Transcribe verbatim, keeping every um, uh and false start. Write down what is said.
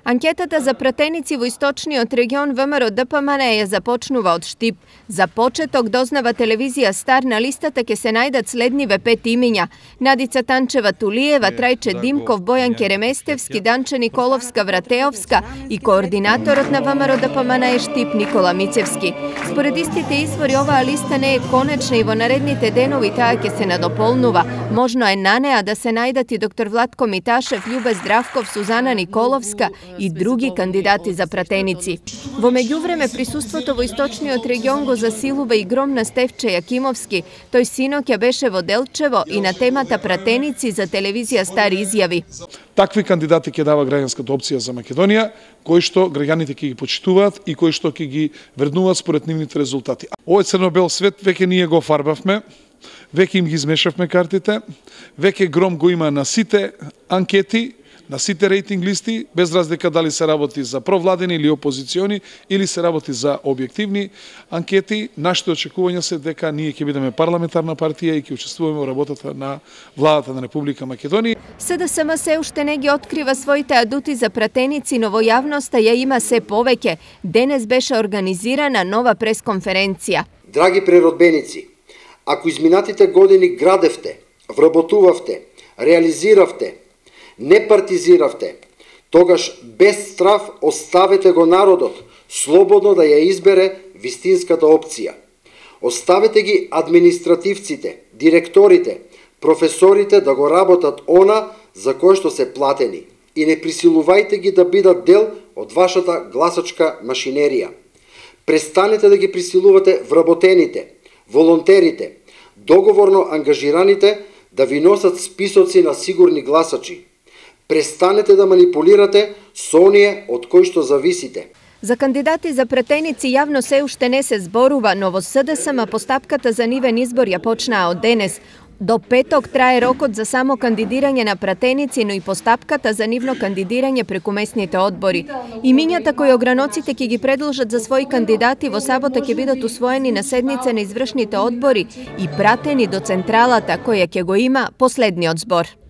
Анкетата за пратеници во источниот регион ВМРО Д П М Н ја започнува од Штип. За почеток дознава телевизија Стар, на листата ќе се најдат следниве пет имиња: Надица Танчева Тулиева, Трајче Димков, Бојан Кереместевски, Данче Николовска Вратеовска и координаторот на ВМРО Д П М Н Штип Никола Мицевски. Според истите извори, оваа листа не е конечна и во наредните денови таа ќе се надополнува. Можно е на неа да се најдат и доктор Владко Миташев, Љубе Здравков, Сузана Николовска и други кандидати за пратеници. Во меѓувреме присуството во источниот регион го засилува и гром на Стефче Јакимовски. Тој синоќа беше во Делчево и на темата пратеници за телевизија Стар изјави: такви кандидати ќе дава граѓанската опција за Македонија, кои што граѓаните ќе ги почитуваат и кои што ќе ги вреднуваат според нивните резултати. Овој црно-бел свет веќе ние го фарбавме, веќе им ги измешавме картите, веќе гром го има на сите анкети, на сите рейтинг листи, без разлика дали се работи за провладени или опозициони, или се работи за објективни анкети. Нашите очекувања се дека ние ќе бидеме парламентарна партија и ќе учествуваме во работата на владата на Република Македонија. С Д С М се уште не ги открива своите адути за пратеници, но во јавноста ја има се повеќе. Денес беше организирана нова пресконференција. Драги преродбеници, ако изминатите години градевте, вработувавте, реализиравте, не партизиравте, тогаш без страв оставете го народот слободно да ја избере вистинската опција. Оставете ги административците, директорите, професорите да го работат она за кое што се платени и не присилувајте ги да бидат дел од вашата гласачка машинерија. Престанете да ги присилувате вработените, волонтерите, договорно ангажираните да ви носат списоци на сигурни гласачи. Престанете да манипулирате со оние од кои што зависите. За кандидати за пратеници јавно се уште не се зборува, но во С Д С М постапката за нивен избор ја почнаа од денес. До петок трае рокот за само кандидирање на пратеници, но и постапката за нивно кандидирање преку местните одбори. Имињата кои ограноците ќе ги предложат за своји кандидати во сабота ќе бидат усвоени на седница на извршните одбори и пратени до централата која ќе го има последниот збор.